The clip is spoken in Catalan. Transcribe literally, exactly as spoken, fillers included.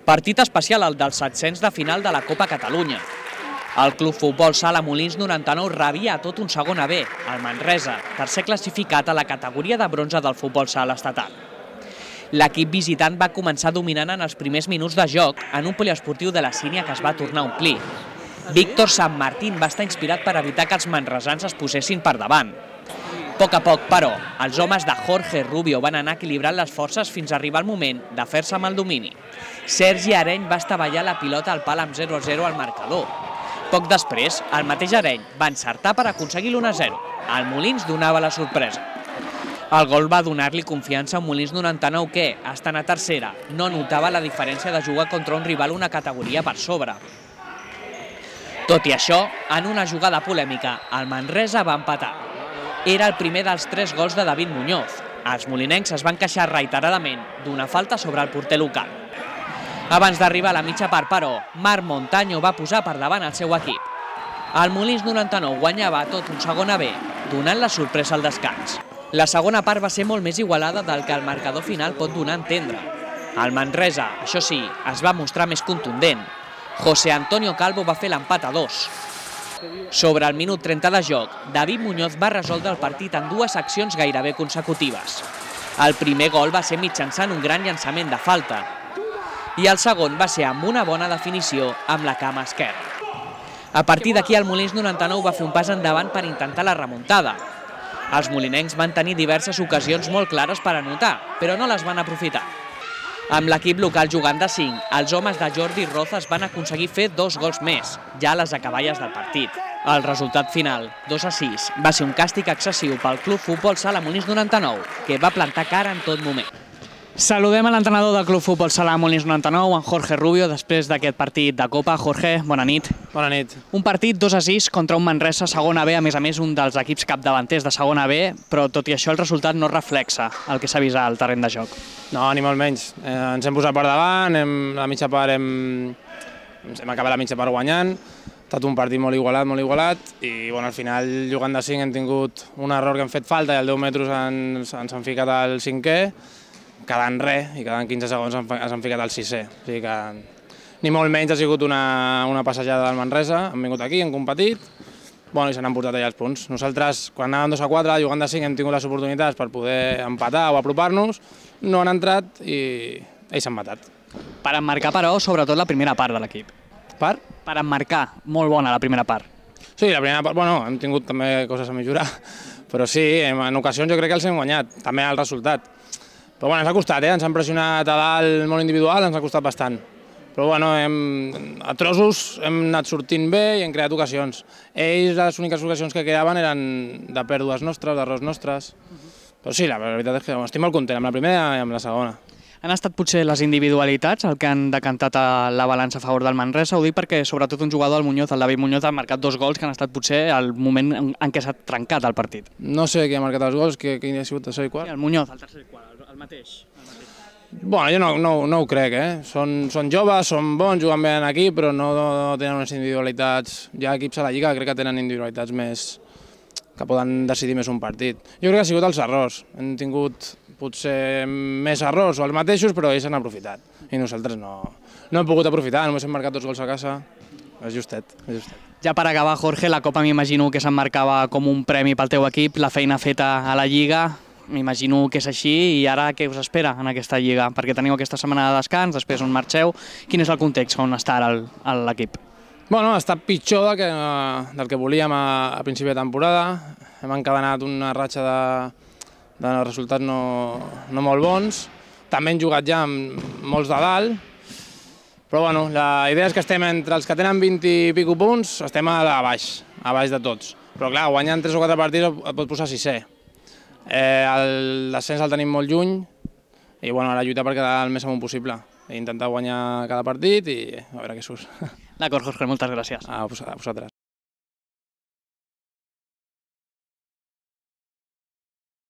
Partit especial el dels set-cents de final de la Copa Catalunya. El Club Futbol Sala Molins noranta-nou rebia a tot un segon A B, el Manresa, tercer classificat a la categoria de bronze del futbol sala estatal. L'equip visitant va començar dominant en els primers minuts de joc en un poliesportiu de la Sínia que es va tornar a omplir. Víctor San Martín va estar inspirat per evitar que els manresans es posessin per davant. A poc a poc, però, els homes de Jorge Rubio van anar equilibrant les forces fins a arribar al moment de fer-se amb el domini. Sergi Areny va estavellar la pilota al pal amb zero a zero al marcador. Poc després, el mateix Areny va encertar per aconseguir l'u a zero. El Molins donava la sorpresa. El gol va donar-li confiança a Molins noranta-nou que, estant a tercera, no notava la diferència de jugar contra un rival una categoria per sobre. Tot i això, en una jugada polèmica, el Manresa va empatar. Era el primer dels tres gols de David Muñoz. Els molinencs es van queixar reiteradament d'una falta sobre el porter local. Abans d'arribar a la mitja part, però, Marc Montaño va posar per davant el seu equip. El Molins noranta-nou guanyava tot un segon A B, donant la sorpresa al descans. La segona part va ser molt més igualada del que el marcador final pot donar a entendre. El Manresa, això sí, es va mostrar més contundent. José Antonio Calvo va fer l'empat a dos. Sobre el minut trenta de joc, David Muñoz va resoldre el partit en dues accions gairebé consecutives. El primer gol va ser mitjançant un gran llançament de falta i el segon va ser amb una bona definició amb la cama esquerra. A partir d'aquí el Molins noranta-nou va fer un pas endavant per intentar la remuntada. Els molinencs van tenir diverses ocasions molt clares per anotar, però no les van aprofitar. Amb l'equip local jugant de cinc, els homes de Jordi Rozas van aconseguir fer dos gols més, ja a les acaballes del partit. El resultat final, dos a sis, va ser un càstig excessiu pel Club Futbol Sala Molins noranta-nou, que va plantar cara en tot moment. Saludem a l'entrenador del Club Futbol Sala Molins noranta-nou, en Jorge Rubio, després d'aquest partit de Copa. Jorge, bona nit. Bona nit. Un partit dos a sis contra un Manresa segona B, a més a més un dels equips capdavanters de segona B, però tot i això el resultat no reflexa el que s'ha vist al terreny de joc. No, ni molt menys. Eh, ens hem posat per davant, hem, la mitja part hem, hem acabat la mitja part guanyant. Ha estat un partit molt igualat, molt igualat, i bueno, al final, jugant de cinc, hem tingut un error que hem fet falta i al deu metres ens, ens han ficat al cinquè, quedant res, i quedant quinze segons ens han ficat al sisè. O sigui que ni molt menys ha sigut una, una passejada del Manresa, hem vingut aquí, hem competit, bueno, i se n'han portat allà els punts. Nosaltres, quan anàvem dos a quatre, jugant de cinc, hem tingut les oportunitats per poder empatar o apropar-nos, no han entrat i ells s'han matat. Per emmarcar, però, sobretot la primera part de l'equip. Per? Per emmarcar, molt bona la primera part. Sí, la primera part, bueno, hem tingut també coses a millorar, però sí, en ocasions jo crec que els hem guanyat, també el resultat. Però bueno, ens ha costat, eh? Ens han pressionat a dalt molt individual, ens ha costat bastant. Però bueno, hem, a trossos hem anat sortint bé i hem creat ocasions. Ells, les úniques ocasions que quedaven eren de pèrdues nostres, d'errors nostres. Però sí, la veritat és que estic molt content amb la primera i amb la segona. Han estat potser les individualitats el que han decantat la balança a favor del Manresa? Ho dic perquè sobretot un jugador, el Muñoz, el David Muñoz, ha marcat dos gols que han estat potser el moment en què s'ha trencat el partit. No sé qui ha marcat els gols, quin ha sigut el tercer i quart? Sí, el Muñoz, el tercer i quart, el mateix. El mateix. Bueno, jo no, no, no ho crec, eh? Són, són joves, són bons, juguen bé aquí, però no, no tenen unes individualitats. Hi ha equips a la Lliga que crec que tenen individualitats més que poden decidir més un partit. Jo crec que ha sigut els errors. Hem tingut potser més errors o els mateixos, però ells han aprofitat. I nosaltres no, no hem pogut aprofitar, només hem marcat dos gols a casa. És justet, és justet. Ja per acabar, Jorge, la Copa m'imagino que s'emmarcava com un premi pel teu equip, la feina feta a la Lliga, m'imagino que és així, i ara què us espera en aquesta Lliga? Perquè teniu aquesta setmana de descans, després on marxeu. Quin és el context on està ara l'equip? Bueno, ha estat pitjor del que, del que volíem a, a principi de temporada. Hem encadenat una ratxa de, de resultats no, no molt bons. També hem jugat ja amb molts de dalt. Però bueno, la idea és que estem entre els que tenen vint i pico punts, estem a, a baix, a baix de tots. Però clar, guanyant tres o quatre partits et pot posar sisè. Eh, el descens el tenim molt lluny i bueno, ara lluitar per quedar el més amunt possible. I intentar guanyar cada partit i a veure què surt. D'acord, Jorge, moltes gràcies. A vosaltres.